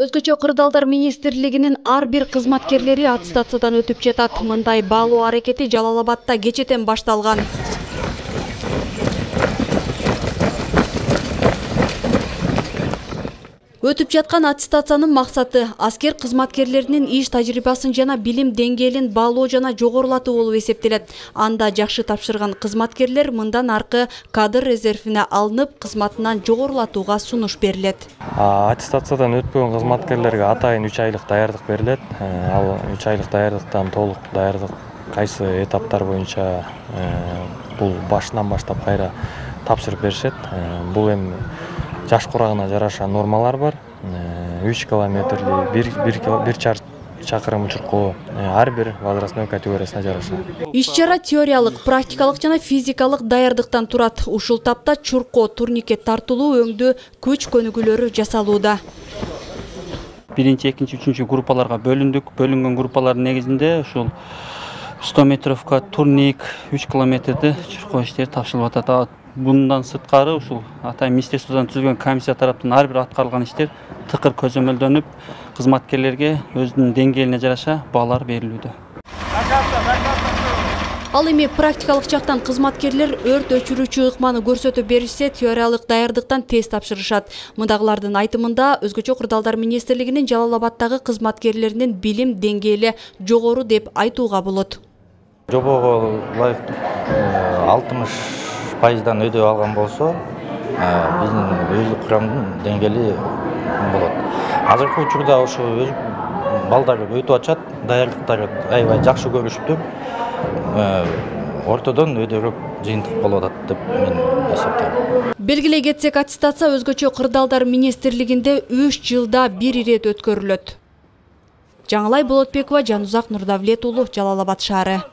Өзгөчө кырдаалдар министрлигинин ар бир кызматкерлери аттестациядан өтүп жатат. Мындай баалоо аракети Жалал Абадта кечэтен башталган. Өтүп жаткан аттестациянын максаты аскер кызматкерлеринин иш тажрыйбасын жана билим деңгээлин баалоо жана жогорулатуу болуп эсептелет. Анда жакшы тапшырган кызматкерлер мындан аркы кадр резервине алынып, кызматынан жогорулатууга сунуш берилет. Аттестациядан өтпөгөн кызматкерлерге атайын 3 айлык даярдык берилет. Ал 3 айлык даярдыктан толук даярдык кайсы этаптар боюнча бул башынан баштап кайра тапшырып беришет. Бул эми жаш курагына жараша нормалар бар. 3 километрли 1 чакырым учуркуу ар бир возрастной категориясына жараша. Иш-чара теориялык, практикалык жана физикалык даярдыктан турат. Ушул тапта чуркоо, турникет тартылуу өңдүү күч көнүгүүлөрү жасалууда. 1-2, 3 группаларга бөлүндүк. Бөлүнгөн группалардын негизинде ушул 100 метровка турник, 3 километрди чуркоо иштери тапшырылып атат. Bundan сырткары ушул атайын министрликтен түзүлгөн комиссия тараптан ар бир аткарылган иштер тыкыр көзөмөлдөнүп, кызматкерлерге өзүнүн деңгээлине жараша баалар берилүүдө. Ал эми практикалык жактан кызматкерлер өрт өчүрүүчү ыкманы көрсөтүп беришсе, теориялык даярдыктан тест тапшырышат. Мындагылардын айтымында өзгөчө кырдаалдар министрлигинин Жалал Абадтагы кызматкерлеринин билим деңгээли жогору деп айтууга болот. Жобого ылайыктуу 60% өйдө алган болсо, биздин өздүк курамдын деңгээли болот. Азыркы учурда ошо өз балдар өтүп атышат, даярдыктары аябай жакшы көрүшүптүр. Ортодон өйдөрөөк жыйынтык болуп атат деп мен эсептейм. Белгилей кетсек, аттестация өзгөчө кырдаалдар министрлигинде 3 жылда бир ирет өткөрүлөт. Жаңылай Болотбекова, Жанузак Нурдавлет уулу, Жалал Абад шаары.